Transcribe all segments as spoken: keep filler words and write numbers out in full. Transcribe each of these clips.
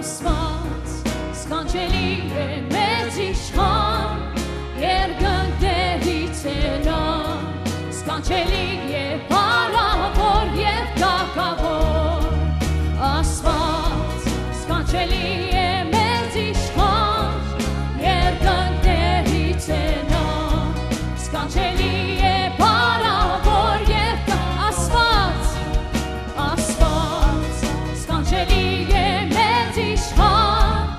Աստուած, սքանչելի է մեծ իշխան, երկնքների ծենան, սքանչելի է փառաւոր եւ թագաւոր։ Աստուած, սքանչելի է մեծ իշխան, երկնքների ծենան, սքանչելի է փառաւոր եւ թա-, Աստուած, Աստուած, սքանչելի է մեծ իշխան,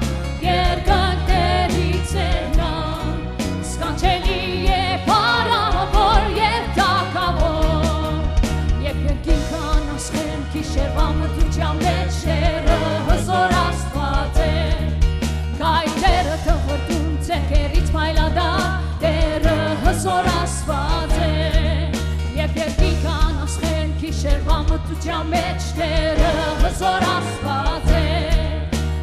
երկնքների ծենան, սքանչելի է փառաւոր եւ թագաւոր։ Երբ երկինքն անասխեն գիշերուան մթության մէջ, Տէրը հզօր Աստուած է, քայլերը թղթուն, ձեռքերից փայլատա, Տէրը հզօր Աստուած է։ Երբ երկինքն անասխեն գիշերուան մթության մէջ, Տէրը հզօր Աստուած է,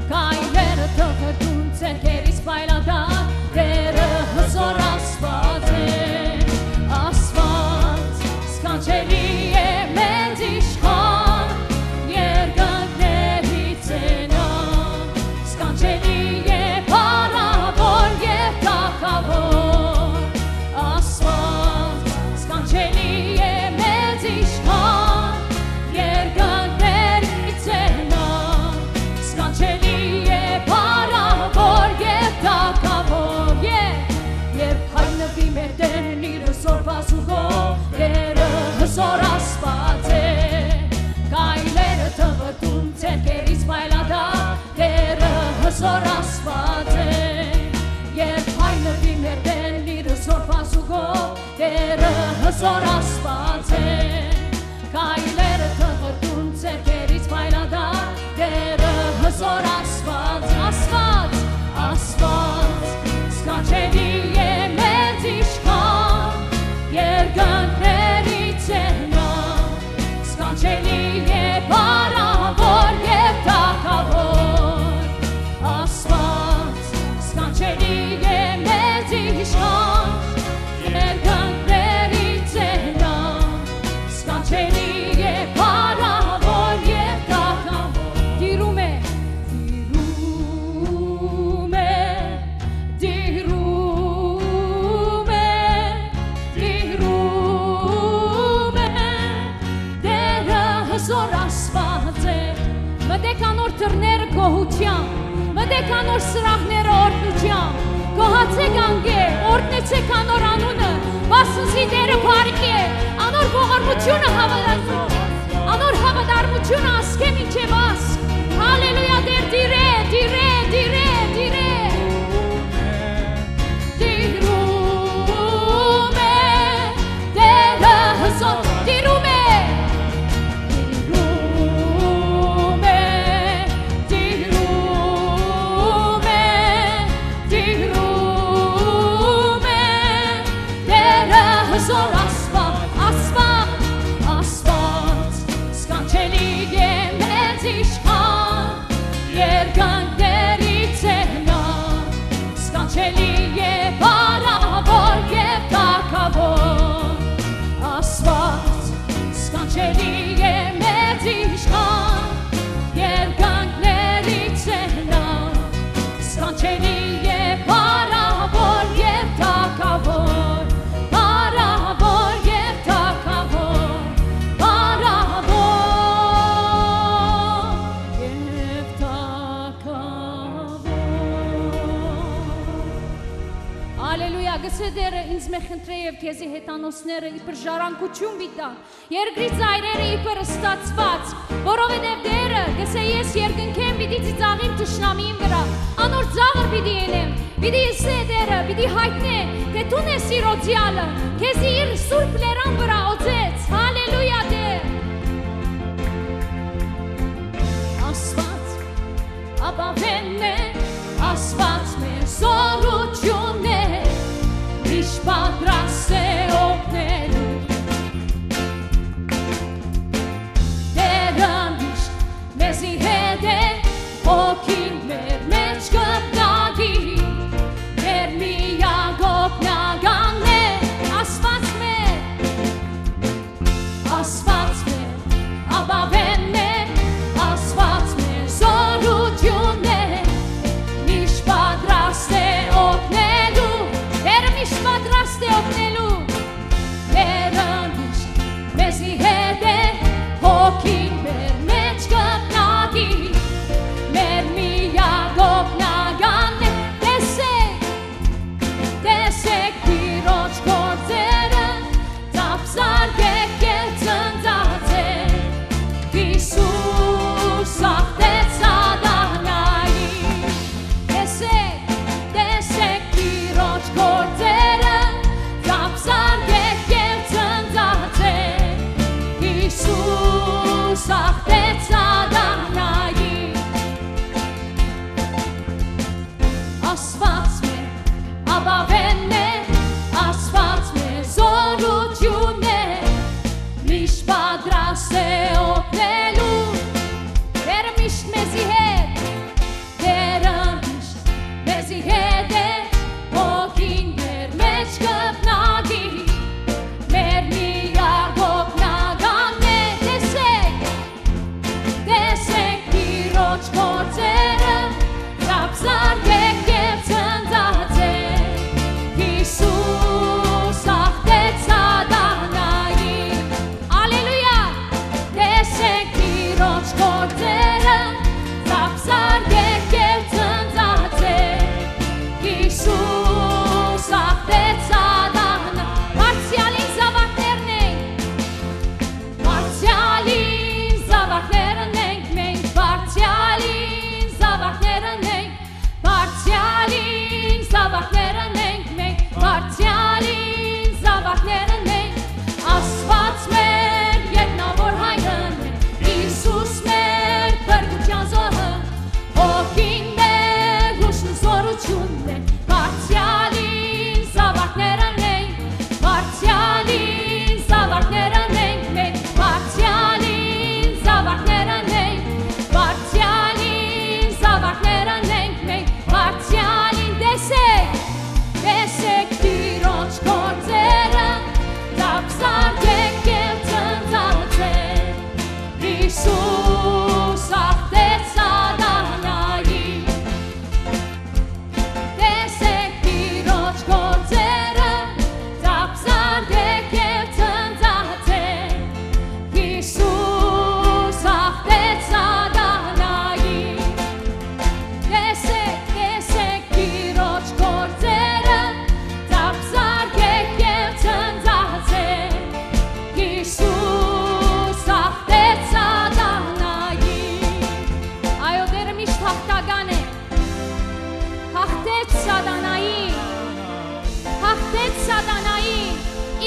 քայլերը թղթուն, ձեռքերից փայլատա, Տէրը հզօր Աստուած է։ Աստուած, սքանչելի է մեծ իշխան, երկնքների ծենան, սքանչելի է փառաւոր եւ թագաւոր։ Աստուած, սքանչելի է մեծ իշխան, երկնքների ծենան, սքանչելի է փառաւոր եւ թագաւոր։ Երբ, երբ հայտնուի մեր Տէրն իր հզօր բազուկով, Տէրը հզօր Աստուած է, քայլերը թղթուն, ձեռքերից փայլատա, Տէրը հզօր Աստուած է։ Երբ հայտնուի մեր Տէրն իր հզօր բազուկով, Տէրը հզօր Աստուած է, քայլերը թղթուն, ձեռքերից փայլատա, Տէրը հզօր Աստուած, Աստուած, Աստուած, սքանչելի է մեծ իշխան, երկնքների ծենան, սքանչելի է փառաւոր եւ թագաւոր։ Աստուած, սքանչելի է մեծ իշխան, երկնքների ծենան, սքանչելի է փառաւոր եւ թագաւոր։ Տիրում է, տիրում է, տիրում է, տիրում է, Տէրը հզօր Աստուած է։ Մտեք անոր դռները գոհութեան, մտեք անոր սրահները օրհնութեան, գոհացէք անկէ, օրհնեցէք անոր անունը, վասն զի Տէրը բարի է, անոր ողորմութիւնը հաւատարմութիւն, անոր հաւատարմութիւնը ասկէ մինչեւ ասկ։ Հալելույա, Տէր, տիրէ, տիրէ, տիրէ, տիրէ։ Տիրում է, Տէրը հզօր, տիրում է, տիրում է, տիրում է, տիրում է, Տէրը հզօր Աստուած, Աստուած, Աստուած, սքանչելի է մեծ իշխան, երկնքների ծենան, սքանչելի է փառաւոր եւ թագաւոր։ Աստուած, սքանչելի է մեծ իշխան, երկնքների ծենան, սքանչելի է փառաւոր եւ թագաւոր, փառաւոր եւ թագաւոր, փառաւոր եւ թագաւոր։ Ալելույա, գսե Տէրը, ինձ մէ խնդրէ եւ քեզի հեթանոսները իբր ժառանգութիւն պիտի տան, երկրի ծայրերը իբր ստացուած, որովհետեւ Տէրը գսե, ես երկնքէն պիտի ծիծաղիմ թշնամիին վրայ, անոր ծաղր պիտի ելեմ, պիտի ըսէ Տէրը, պիտի յայտնէ, թէ դուն ես իր օծեալը, քեզի իր սուրբ լերան վրայ օծեց, հալելույա Տէր։ Աստուած ապաւէնն է, Աստուած մեր զօրութիւնն է, միշտ պատրաստ է օգնելու։ Տէրը միշտ մեզի հետ է, հոգին մեր մէջ կպնակի, մեր միակ օգնականն է, Աստուած մեր, Աստուած մեր ապաւէնն է, Աստուած մեր զօրութիւնն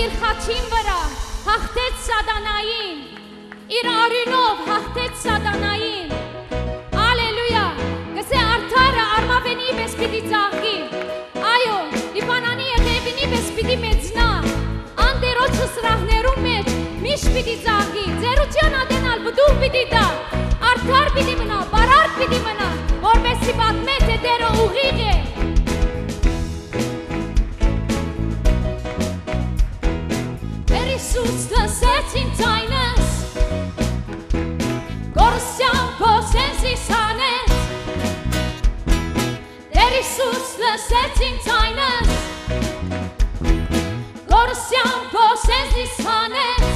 իր խաչին վրայ հաղթեց սատանային, իր արիւնով հաղթեց սատանային։ Ալելույա։ Կսէ, արդարը արմաւենի պէս պիտի ծաղկի։ Այո, Լիբանանի ետեւինի պէս պիտի մեծնայ։ Ան Տէրոջը սրահներուն մէջ միշտ պիտի ծաղկի, ծերութեան ատեն ալ պտուղ պիտի տայ, արդար պիտի մնայ, բարարդ պիտի մնայ, որպէս զի պատմէ թէ Տէրը ուղիղ է։ Տէր Յիսուս, լսեց իմ ձայնս, կորսնեան փոսէն զիս հանեց։ Տէր Յիսուս, լսեց իմ ձայնս, կորսնեան փոսէն զիս հանեց։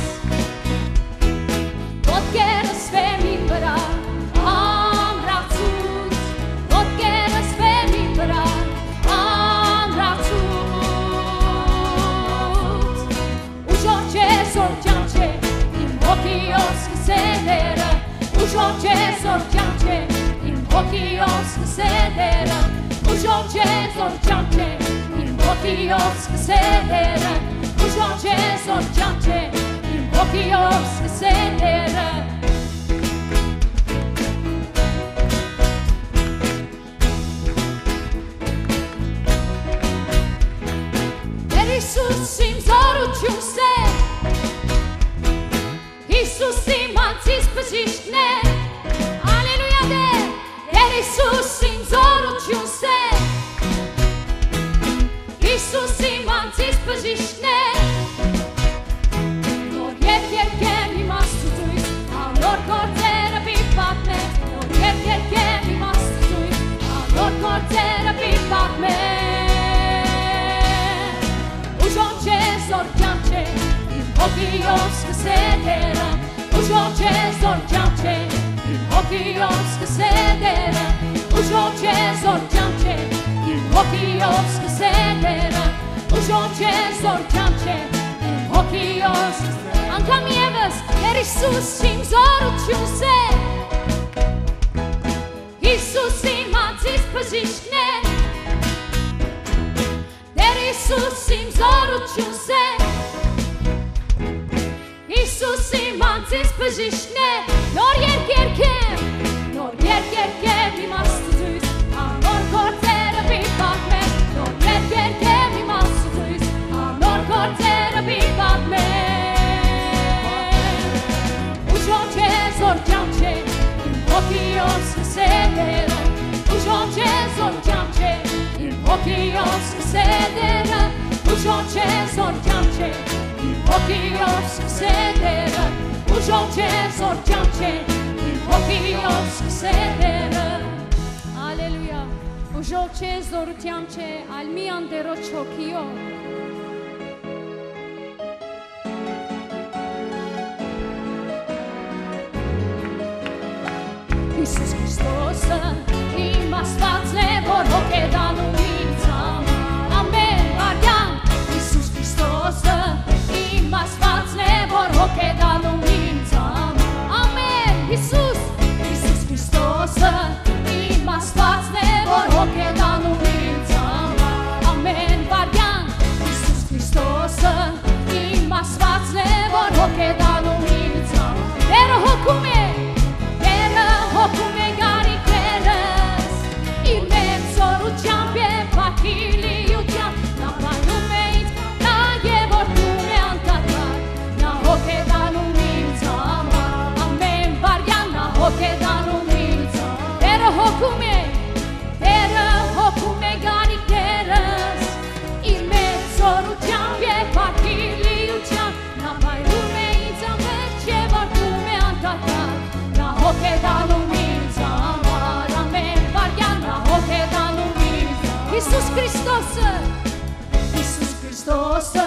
Ոտքերս բեմին վրայ ամրացուց, ոտքերս բեմին վրայ ամրացուց։ Ուժով չէ, զոր կեանք չէ, իմ հոգիով սկսե Տէրը։ Ուժով չէ, զոր կեանք չէ, իմ հոգիով սկսե Տէրը։ Ուժով չէ, զոր կեանք չէ, իմ հոգիով սկսե Տէրը։ Ուժով չէ, զոր կեանք չէ, իմ հոգիով սկսե Տէրը։ Տէր Յիսուս իմ զօրութիւնս է, Յիսուս իմ անձիս բժիշկն է։ Ալելույա, Տէր, Տէր Յիսուս իմ զօրութիւնս է, Յիսուս իմ անձիս բժիշկն է։ Նոր երգ երգեմ իմ Աստուծոյս, անոր գործերը պիտի պատմեմ։ Նոր երգ երգեմ իմ Աստուծոյս, անոր գործերը պիտի պատմեմ։ Ուժով չէ, զոր կեանք չէ, իմ հոգիով սկսե Տէրը։ Ուժով չէ, զոր կեանք չէ, իմ հոգիով սկսե Տէրը։ Ուժով չէ, զոր կեանք չէ, իմ հոգիով սկսե Տէրը։ Ուժով չէ, զոր կեանք չէ, իմ հոգիով սկսե։ Անգամ եւս, Տէր Յիսուս իմ զօրութիւնս է, Յիսուս իմ անձիս բժիշկն է, Տէր Յիսուս իմ զօրութիւնս է, Յիսուս իմ անձիս բժիշկն է։ Նոր երգ երգեմ, նոր երգ երգեմ իմ Աստուծոյս, անոր գործերը պիտի պատմեմ։ Նոր երգ երգեմ իմ Աստուծոյս, անոր գործերը պիտի պատմեմ։ Ուժով չէ, զոր կեանք չէ, իմ հոգիով սկսե Տէրը։ Ուժով չէ, զոր կեանք չէ, իմ հոգիով սկսե Տէրը։ Ուժով չէ, զոր կեանք չէ, իմ հոգիով սկսե Տէրը։ Ուժով չէ, զոր կեանք չէ, իմ հոգիով սկսե Տէրը։ Ալելույա։ Ուժով չէ, զօրութեան չէ, այլ միայն Տէրոջ հոգիով։ Յիսուս Քրիստոսը իմ Աստուածն է, որ հոգ է տանում ինձ համար։ Ամէն վայրկեան Յիսուս Քրիստոսը իմ Աստուածն է, որ հոգ է տանում ինձ համար։ Ամէն, Յիսուս, Յիսուս Քրիստոսը իմ Աստուածն է, որ հոգ է տանում ինձ համար։ Ամէն վայրկեան Յիսուս Քրիստոսը իմ Աստուածն է, որ հոգ է տանում ինձ համար։ Տէրը հոգում է, Տէրը հոգում է գարիքներս, իր մեծ զօրութեամբ եւ փառքի լիությամբ նա պահում է ինձ, նա երգում է անդադար, նա հոգ է տանում ինձ համար, ամէն վայրկեան նա հոգ է տանում ինձ համար։ Տէրը հոգում է, Տէրը հոգում է գարիքներս, իր մեծ զօրութեամբ եւ փառքի լիությամբ նա պահում է ինձ ամէջ եւ արտում է անդադար, նա հոգ է տանում ինձ համար, ամէն վայրկեան նա հոգ է տանում ինձ համար։ Յիսուս Քրիստոսը, Յիսուս Քրիստոսը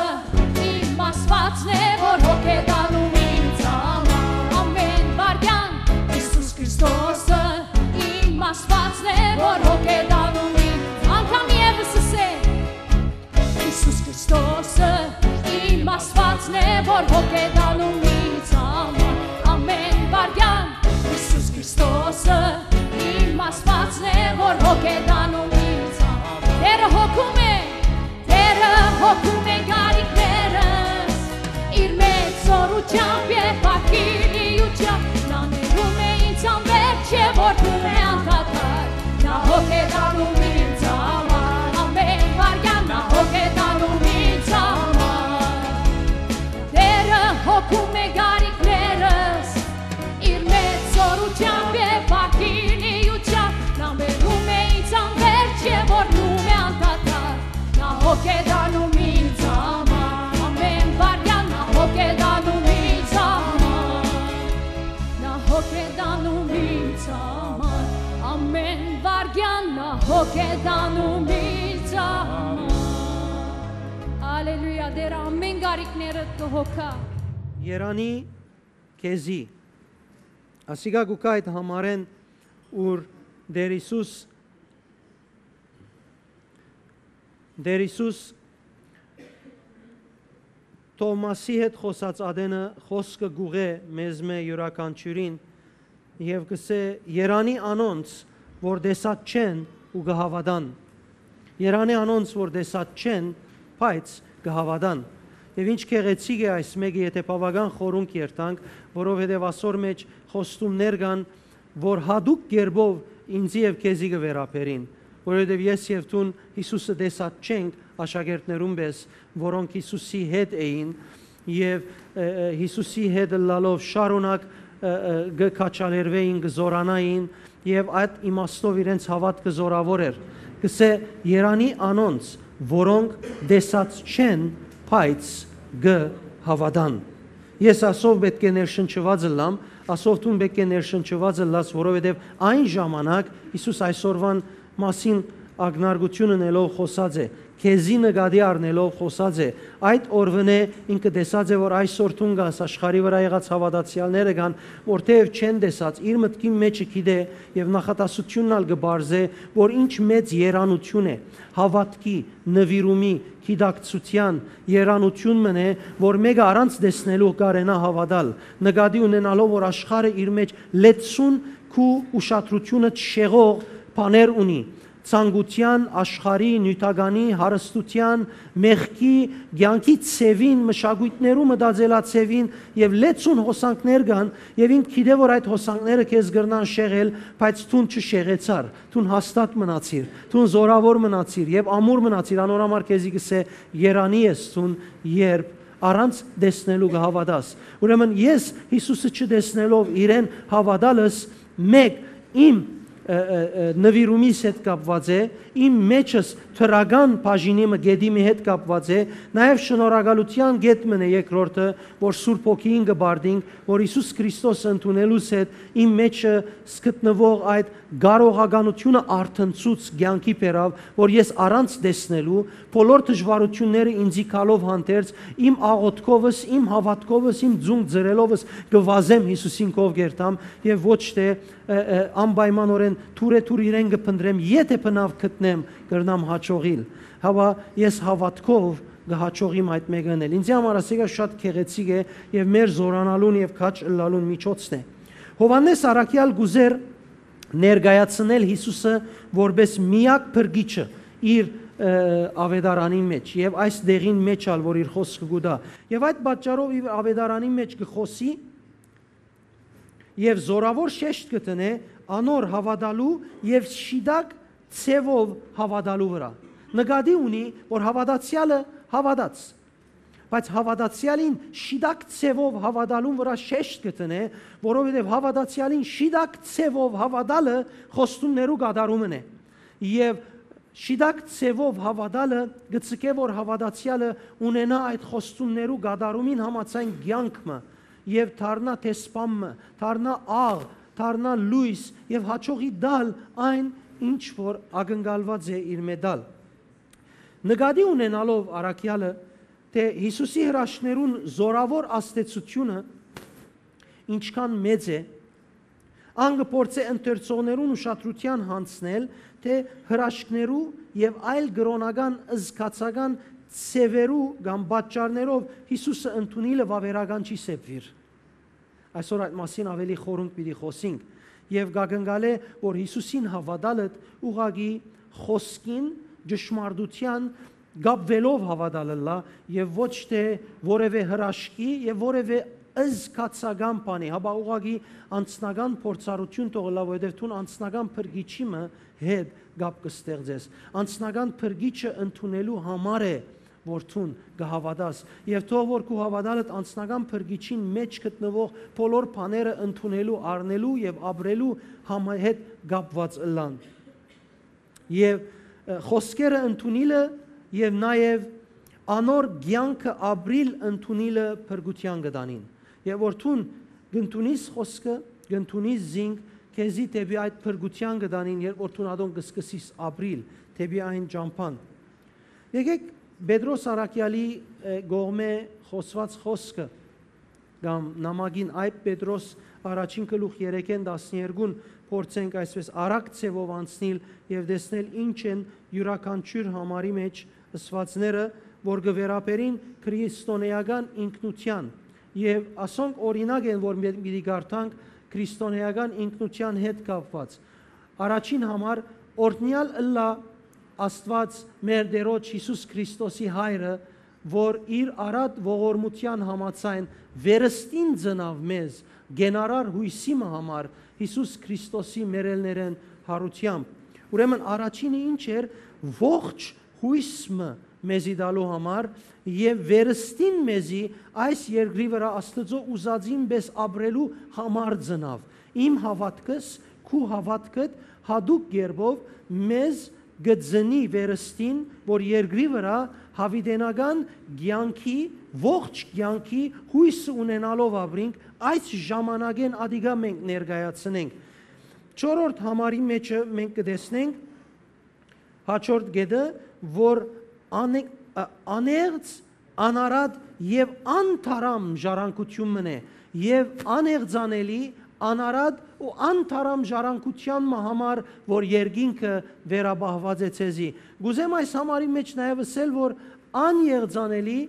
իմ Աստուածն է, որ հոգ է տանում ինձ համար, ամէն վայրկեան Յիսուս Քրիստոսը իմ Աստուածն է, որ հոգ է տանում ինձ։ Անգամ եւս ասե. Յիսուս Քրիստոսը իմ Աստուածն է, որ հոգ է տանում ինձ համար, ամէն վայրկեան Յիսուս Քրիստոսը իմ Աստուածն է, որ հոգ է տանում ինձ համար։ Տէրը հոգում է, Տէրը հոգում է գարիքներս, Հոգեդանում իր համար։ Ալելույա, Տերը ամեն կարիքներդ կը հոգայ։ Երանի քեզի։ Ասիկա կու գայ այդ համարէն, ուր Տեր Յիսուս, Տեր Յիսուս Թովմասի հետ խօսած ատենը խօսքը կ'ուղղէ մեզմէ յուրաքանչիւրին եւ կ'ըսէ. «Երանի անոնց, որ տեսած չեն ու կը հաւատան»։ Երանի անոնց, որ տեսած չեն, բայց կը հաւատան։ Եւ ինչ գեղեցիկ է այս մէկը, եթէ բաւական խորունկ երթանք, որովհետեւ ասոր մէջ խոստումներ կան, որ յատուկ կերպով ինծի եւ քեզի կը վերաբերին, որովհետեւ ես եւ դուն Յիսուսը տեսած չենք աշակերտներուն պէս, որոնք Յիսուսի հետ էին եւ, ը, ը, Յիսուսի հետ ըլլալով շարունակ, ը, ը, կը քաջալերուէին, կը զօրանային եւ այդ իմաստով իրենց հաւատքը զօրաւոր էր։ Կ'ըսէ. «Երանի անոնց, որոնք տեսած չեն, բայց կը հաւատան»։ Ես ասով պէտք է ներշնչուած ըլլամ, ասով դուն պէտք է ներշնչուած ըլլաս, որովհետեւ այն ժամանակ Յիսուս այսօրվան մասին ակնարկություն ընելով խօսած է, քեզի նկատի առնելով խօսած է, այդ օրուընէ ինքը տեսած է, որ այսօր դուն կաս, աշխարհի վրայ եղած հաւատացեալները կան, որ թեեւ չեն տեսած, իր մտքին մէջը գիտէ եւ նախատասությունն ալ կը պարզէ, որ ինչ մեծ երանութիւն է, հաւատքի, նուիրումի, գիտակցութեան երանութիւն մըն է, որ մէկը առանց տեսնելու կարենայ հաւատալ, նկատի ունենալով, որ աշխարհը իր մէջ լեցուն քու ուշադրութիւնը շեղող բաներ ունի, ցանկութեան, աշխարհի, նիւթականի, հարստութեան, մեղքի, կեանքի ձեւին, մշակոյթներու մտածելաձեւին եւ լեցուն հոսանքներ կան, եւ ինք գիտէ, որ այդ հոսանքները քեզ կրնան շեղել, բայց դուն չշեղեցար, դուն հաստատ մնացիր, դուն զօրաւոր մնացիր եւ ամուր մնացիր, անոր համար քեզի կ'ըսէ. «Երանի ես դուն, երբ առանց տեսնելու կը հաւատաս»։ Ուրեմն ես Յիսուսը չտեսնելով իրեն հաւատալս մէկ իմ, ը, ը, ը, նուիրումիս հետ կապուած է, իմ մէջս դրական բաժինի մը կետի մը հետ կապուած է, նաեւ շնորհակալութեան կետ մը է երկրորդը, որ Սուրբ Հոգիին կը պարտինք, որ Յիսուս Քրիստոս ընդունելուս հետ իմ մէջս գտնուող այդ կարողականութիւնը արթնցուց, կեանքի բերաւ, որ ես առանց տեսնելու, բոլոր դժուարութիւնները ինծի գալով հանդերձ, իմ աղօթքովս, իմ հաւատքովս, իմ ձունկ ձրելով կը վազեմ Յիսուսին քով կ'երթամ եւ ոչ թէ, ը, ը, անպայմանօրէն թուրեթուր իրեն կը փնտռեմ, եթէ բնաւ գտնեմ, կրնամ յաջողիլ։ Հապա ես հաւատքով կը յաջողիմ այդ մէկը ընել։ Ինծի համար ասիկա շատ գեղեցիկ է եւ մեր զօրանալուն եւ քաջ ըլլալուն միջոցն է։ Յովհաննէս առաքեալ կ'ուզէր ներկայացնել Յիսուսը որպէս միակ փրկիչը իր, ը, աւետարանին մէջ եւ այս դեղին մէջ ալ, որ իր խօսքը կու տայ։ Եւ այդ պատճառով իր աւետարանին մէջ կը խօսի եւ զօրաւոր շեշտ կը դնէ անոր հաւատալու եւ շիտակ ձեւով հաւատալու վրայ։ Նկատի ունի, որ հաւատացեալը հաւատաց, բայց հաւատացեալին շիտակ ձեւով հաւատալուն վրայ շեշտ կը դնէ, որովհետեւ հաւատացեալին շիտակ ձեւով հաւատալը խոստումներու կատարումն է։ Եւ շիտակ ձեւով հաւատալը կը ձգէ, որ հաւատացեալը ունենայ այդ խոստումներու կատարումին համաձայն կեանք մը եւ դառնայ դեսպան մը, դառնայ աղ, դառնայ լոյս եւ յաջողի տալ այն, ինչ որ ակնկալուած է իրմէ տալ։ Նկատի ունենալով առաքեալը, թէ Յիսուսի հրաշքներուն զօրաւոր ազդեցութիւնը ինչքան մեծ է, ան կը փորձէ ընթերցողներուն ուշադրութեան յանձնել, թէ հրաշքներու եւ այլ կրօնական զգացական ձեւերու կամ պատճառներով Յիսուսը ընդունիլը վաւերական չի սեպուիր։ Այսօր այդ մասին աւելի խորունկ պիտի խօսինք եւ կ'ակնկալէ, որ Յիսուսին հաւատալդ ուղղակի խօսքին, ճշմարտութեան կապուելով հաւատալ ըլլայ եւ ոչ թէ որեւէ հրաշքի եւ որեւէ զգացական բանի, հապա ուղղակի անձնական փորձառութիւն թող ըլլայ, որովհետեւ դուն անձնական փրկիչի մը հետ կապ կը ստեղծես։ Անձնական փրկիչը ընդունելու համար է, որ դուն կը հաւատաս, եւ թող որ քու հաւատալդ անձնական փրկիչին մէջ գտնուող բոլոր բաները ընդունելու, առնելու եւ ապրելու համ-, հետ կապուած ըլլան։ Եւ, ը, խօսքերը ընդունիլը եւ նաեւ անոր կեանքը ապրիլ ընդունիլը փրկութեան կը տանին։ Եւ որ դուն կ'ընդունիս խօսքը, կ'ընդունիս զինք, քեզի դէպի այդ փրկութեան կը տանին, երբ որ դուն ատոնք կը սկսես ապրիլ դէպի այն ճամբան։ Եկէք Պետրոս առաքեալի, ը, կողմէ խօսուած խօսքը կամ նամակին Այդ Պետրոս առաջին գլուխ երեքէն տասներկուն փորձենք այսպես արագ ձեւով անցնիլ եւ տեսնել ինչ են իւրաքանչիւր համարի մէջ ըսուածները, որ կը վերաբերին քրիստոնէական ինքնութեան, եւ ասոնք օրինակ են, որ մէ-, պիտի կարդանք քրիստոնէական ինքնութեան հետ կապուած։ Առաջին համար, օրհնեալ ըլլայ Աստուած մեր Տէրոջ Յիսուս Քրիստոսի Հայրը, որ իր առատ ողորմութեան համաձայն վերստին ծնաւ մեզ, կենարար յոյսի մը համար Յիսուս Քրիստոսի մեռելներէն յարութեամբ։ Ուրեմն առաջինը ինչ էր, ողջ յոյս մը մեզի տալու համար եւ վերստին մեզի այս երկրի վրայ Աստուծոյ ուզածին պէս ապրելու համար ծնաւ։ Իմ հաւատքս, քու հաւատքդ յատուկ կերպով մեզ կը ծնի վերստին, որ երկրի վրայ յաւիտենական կեանքի, ողջ կեանքի յոյսը ունենալով ապրինք, այս ժամանակէն ատիկա մենք ներկայացնենք։ Չորրորդ համարի մէջը մենք կը տեսնենք հաջորդ կետը, որ անը-, ա-, անեղծ, անարատ եւ անթարամ ժառանգութիւն մըն է, եւ անեղծանելի, անարատ ու անթարամ ժառանգութեան մը համար, որ երկինքը վերապահուած է ձեզի։ Կ'ուզեմ այս համարի մէջ նաեւ ըսել, որ անեղծանելի,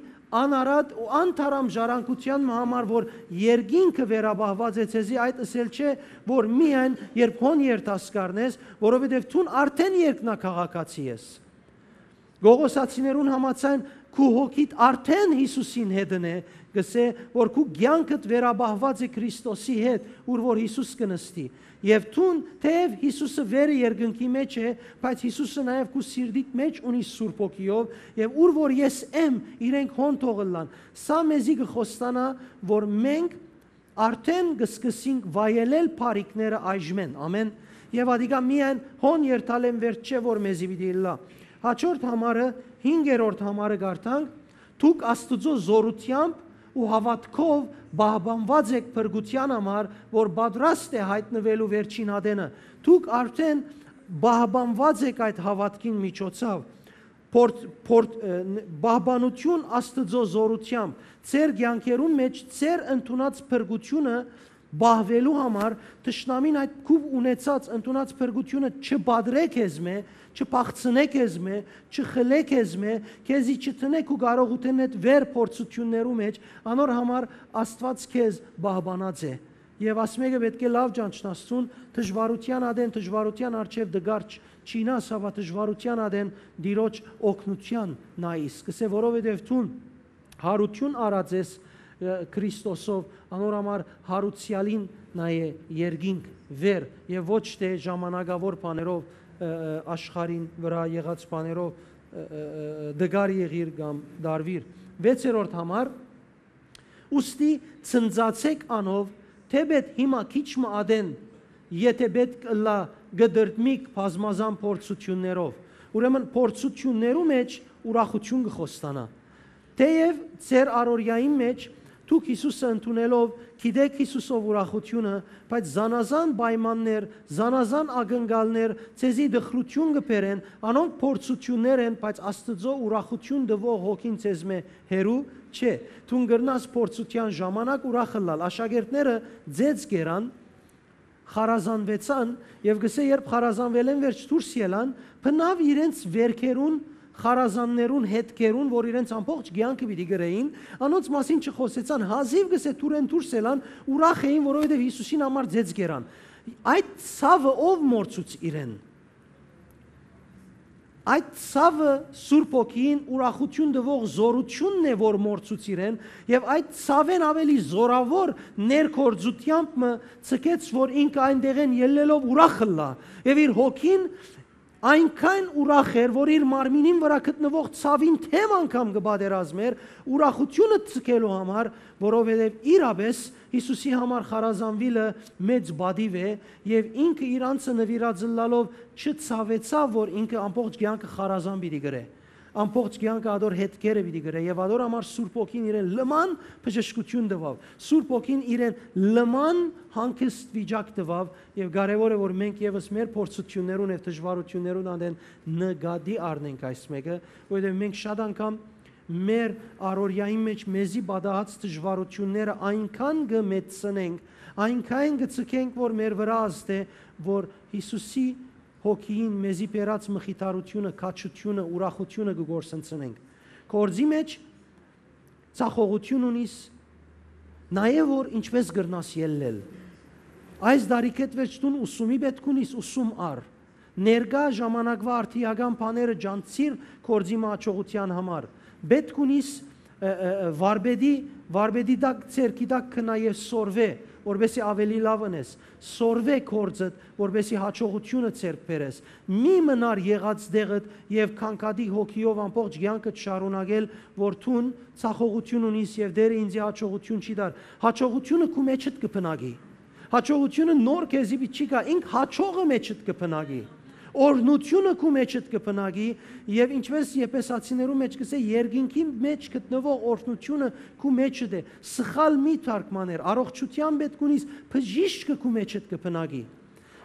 անարատ ու անթարամ ժառանգութեան մը համար, որ երկինքը վերապահուած է ձեզի, այդ ըսել չէ, որ միայն երբ հոն երթաս կ'առնես, որովհետեւ դուն արդէն երկնաքաղաքացի ես։ Կողոսացիներուն համաձայն, քու հոգիդ արդէն Յիսուսին հետն է, կ'ըսէ, որ քու կեանքդ վերապահուած է Քրիստոսի հետ, ուր որ Յիսուս կը նստի։ Եւ դուն, թէեւ Յիսուսը վերը երկնքի մէջ է, բայց Յիսուսը նաեւ քու սիրտիդ մէջ ունի Սուրբ Հոգիով, եւ ուր որ ես եմ, իրենք հոն թող ըլլան։ Սա մեզի կը խոստանայ, որ մենք արդէն կը սկսենք վայելել բարիքները այժմէն, ամէն, եւ ատիկա միայն հոն երթալէն վերջ չէ, որ մեզի պիտի ըլլայ։ Հաջորդ համարը, հինգերորդ համարը կարդանք. «Դուք Աստուծոյ զօրութեամբ ու հաւատքով պահպանուած էք փրկութեան համար, որ պատրաստ է յայտնուելու վերջին ատենը»։ Դուք արդէն պահպանուած էք այդ հաւատքին միջոցով։ Փորձ-, փորձ-, ը, ն-, պահպանութիւն Աստուծոյ զօրութեամբ, ձեր կեանքերուն մէջ ձեր ընդունած փրկութիւնը պահուելու համար, թշնամին այդ քու ունեցած, ընդունած փրկութիւնը չպատռէ քեզմէ, չփախցնէ քեզմէ, չխլէ քեզմէ, քեզի չդնէ քու կարողութենէդ վեր փորձութիւններու մէջ, անոր համար Աստուած քեզ պահպանած է։ Եւ ասմէկը պէտք է լաւ ճանչնաս դուն, դժուարութեան ատեն, դժուարութեան առջեւ դգարչ չինաս, հապա դժուարութեան ատեն Տիրոջ օգնութեան նայիս։ Կ'ըսէ, որովհետեւ դուն յարութիւն առած ես, ը, Քրիստոսով, անոր համար յարուցեալին նայէ երկինք վեր, եւ ոչ թէ ժամանակաւոր բաներով, ը, ը, աշխարհին վրայ եղած բաներով, ը, ը, ը, դգար եղիր կամ դարվիր։ Վեցերորդ համար, ուստի ցնծացէք անով, թէպէտ հիմա քիչ մը ատեն, եթէ պէտք ըլլայ, կը դրդմիք բազմազան փորձութիւններով։ Ուրեմն փորձութիւններու մէջ ուրախութիւն կը խոստանայ։ Թէեւ ձեր առօրեային մէջ դուք Յիսուսը ընդունելով գիտէք Յիսուսով ուրախութիւնը, բայց զանազան պայմաններ, զանազան ակնկալներ ձեզի տխրութիւն կը բերեն, անոնք փորձութիւններ են, բայց Աստուծոյ ուրախութիւն տուող հոգին ձեզմէ հեռու չէ։ Դուն կրնաս փորձութեան ժամանակ ուրախ ըլլալ։ Աշակերտները ձեծ կերան, խարազանուեցան եւ կ'ըսէ, երբ խարազանուելէն վերջ դուրս ելան, բնաւ իրենց վերքերուն, խարազաններուն հետքերուն, որ իրենց ամբողջ կեանքը պիտի կրէին, անոնց մասին չխօսեցան, հազիւ կ'ըսէ դուրէն դուրս ելան, ուրախ էին, որովհետեւ Յիսուսին համար ձեծ կերան։ Այդ ցաւը ո՞վ մոռցուց իրեն։ Այդ ցաւը Սուրբ Հոգին ուրախութիւն տուող զօրութիւնն է, որ մոռցուց իրեն, եւ այդ ցաւէն աւելի զօրաւոր ներգործութեամբ մը ցկեց, որ ինքը այնտեղէն ելլելով ուրախ ըլլայ, եւ իր հոգին այնքան ուրախ էր, որ իր մարմինին վրայ գտնուող ցաւին թեմ անգամ կը պատերազմէր ուրախութիւնը ցկելու համար, որովհետեւ իրապէս Յիսուսի համար խարազանուիլը մեծ պատիւ է, եւ ինքը իր անձը նուիրած ըլլալով չցաւեցաւ, որ ինքը ամբողջ կեանքը խարազան պիտի կրէ։ Ամբողջ կեանքը ատոր հետքերը պիտի գրէ եւ ատոր համար Սուրբ Հոգին իրեն լման բժշկութիւն տուաւ։ Սուրբ Հոգին իրեն լման հանգիստ վիճակ տուաւ եւ կարեւոր է, որ մենք եւս մեր փորձութիւններուն եւ դժուարութիւններուն անդեն նկատի առնենք այս մէկը, որովհետեւ մենք շատ անգամ մեր առօրեային մէջ մեզի պատահած դժուարութիւնները այնքան կը մեծցնենք, այնքան կը ձգենք, որ մեր վրայ ազդէ, որ Յիսուսի Հոգիին մեզի բերած մխիթարութիւնը, քաջութիւնը, ուրախութիւնը կը կորսնցնենք։ Գործի մէջ ձախողութիւն ունիս, նաեւ որ ինչպէս կրնաս ելլել։ Այս դարիքէդ վերջ դուն ուսումի պէտք ունիս, ուսում առ։ Ներկայ ժամանակվայ արդիական բաները ջանցիր գործի մը աջողութեան համար։ Պէտք ունիս, ը, ը, ը, վարպետի, վարպետի տակ, ձեռքի տակ գնայ եւ սորվէ, որպեսզի աւելի լաւ ընես։ Սորվէ գործդ, որպեսզի յաջողութիւնը ձեռք բերես։ Մի մնար եղած տեղդ եւ քանքատի հոգիով ամբողջ կեանքդ շարունակել, որ դուն ձախողութիւն ունիս եւ Տէրը ինծի յաջողութիւն չի տար։ Յաջողութիւնը քու մէջդ կը բնակի։ Յաջողութիւնը նոր քեզի պիտի չի գայ, ինք յաջողը մէջդ կը բնակի։ Օրհնութիւնը քու մէջդ կը բնակի եւ, ինչպէս Եփեսացիներու մէջ կ'ըսէ, երկինքի մէջ գտնուող օրհնութիւնը քու մէջդ է։ Սխալ մի թարգմաներ, առողջութեան պէտք ունիս, բժիշկը քու մէջդ կը բնակի։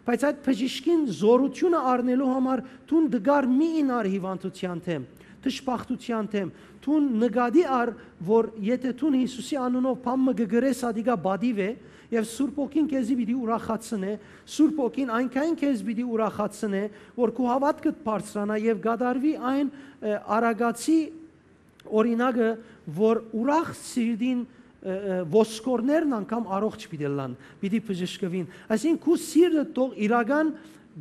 Բայց այդ բժիշկին զօրութիւնը առնելու համար դուն դգար մի ինար հիւանդութեան դէմ, դժբախտութեան դէմ։ Դուն նկատի առ, որ եթէ դուն Յիսուսի անունով բան մը կը գրես, ատիկա պատիւ է, եւ Սուրբ Հոգին քեզի պիտի ուրախացնէ, Սուրբ Հոգին այնքան քեզ պիտի ուրախացնէ, որ քու հաւատքդ բարձրանայ եւ կատարուի այն, ը, արագացի օրինակը, որ ուրախ սիրտին, ը, ը, ոսկորներն անգամ առողջ պիտի ըլլան, պիտի բժշկուին։ Այսինքն, քու սիրտը թող իրական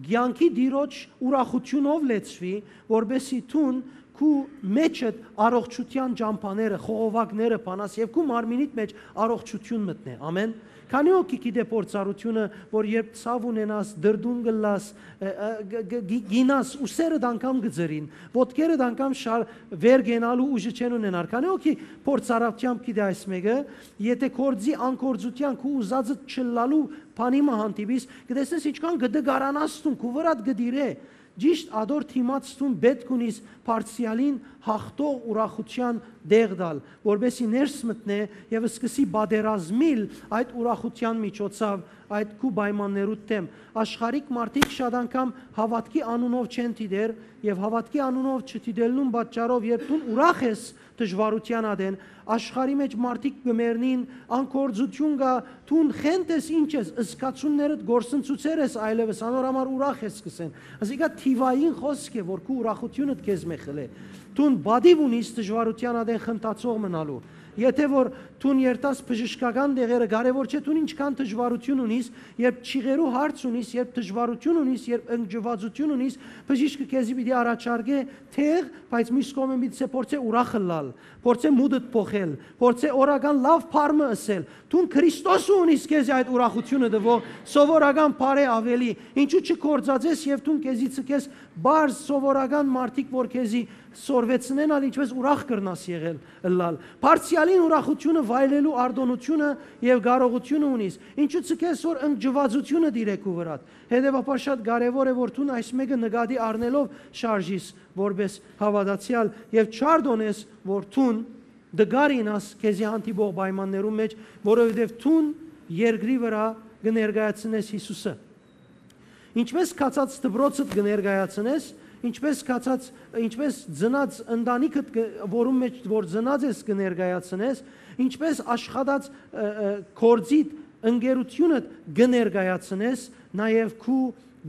կեանքի Տիրոջ ուրախութիւնով լեցուի, որպեսզի դուն քու մէջդ առողջութեան ճամբաները, խողովակները բանաս եւ քու մարմինիդ մէջ առողջութիւն մտնէ։ Ամէն։ Քանի՞ հոգի գիտէ փորձառութիւնը, որ երբ ցաւ ունենաս, դրդուն կ'ըլլաս, ը, ը, գ-, գ-, գի-, գինաս, ուսերդ անգամ կը ձրին, ոտքերդ անգամ շար-, վեր կենալու ուժը չեն ունենար։ Քանի՞ հոգի փորձառությամբ գիտէ այս մէկը, եթէ գործի անգործութեան քու ուզածդ չըլլալու բանի մը հանդիպիս, կը տեսնես ինչքան կը դգարանաս դուն, քու վրադ կը տիրէ։ Ճիշդ ատոր դիմաց դուն պէտք ունիս բարձրեալին յաղթող ուրախութեան տեղ տալ, որպեսզի ներս մտնէ եւ սկսի պատերազմիլ այդ ուրախութեան միջոցով, այդ քու պայմաններուդ դէմ։ Աշխարհիկ մարդիկ շատ անգամ հաւատքի անունով չեն դիտեր եւ հաւատքի անունով չդիտելնուն պատճառով, երբ դուն ուրախ ես դժուարութեան ատեն, աշխարհի մէջ մարդիկ կը մեռնին, անգործութիւն կայ, դուն խենթ ես, ինչ ես, զգացումներդ կորսնցուցեր ես այլեւս, անոր համար ուրախ ես, կ'ըսեն։ Ասիկա թիվային խօսք է, որ քու ուրախութիւնդ քեզմէ խլէ։ Դուն պատիւ ունիս դժուարութեան ատեն խնդացող մնալու։ Եթէ որ դուն երթաս բժշկական դեղերը, կարեւոր չէ դուն ինչքան դժուարութիւն ունիս, երբ չիղերու հարց ունիս, երբ դժուարութիւն ունիս, երբ ընկճվածութիւն ունիս, բժիշկը քեզի պիտի առաջարկէ թեղ, բայց մյուս կողմէն պիտի սա փորձէ ուրախ ըլլալ, փորձէ մուտդ փոխել, փորձէ օրական լաւ բառ մը ըսել։ Դուն Քրիստոսը ունիս քեզի այդ ուրախութիւնը տուող, սովորական բառ է աւելի։ Ինչու՞ չգործածես եւ դուն քեզի ցկես պարզ սովորական մարդիկ, որ քեզի սորվեցնեն, ալ ինչպէս ուրախ կրնաս եղել, ըլլալ։ Բարձեալին ուրախութիւնը վայելելու արտոնությունը եւ կարողությունը ունիս։ Ինչու՞ ցկես որ ընկճվածությունը տիրէ քու վրադ։ Հետեւաբար շատ կարեւոր է, որ դուն այս մէկը նկատի առնելով շարժիս որպէս հաւատացեալ եւ չարտոնես, որ դուն դգար ինաս քեզի հանդիպող պայմաններուն մէջ, որովհետեւ դուն երկրի վրայ կը ներկայացնես Յիսուսը։ Ինչպես գացած դպրոցդ կը ներկայացնես, ինչպես գացած, ինչպես ծնած ընտանիքդ կը, որուն մէջ որ ծնած ես, կը ներկայացնես, ինչպես աշխատած, ը, ը, գործիդ, ընկերությունդ կը ներկայացնես, նաեւ քու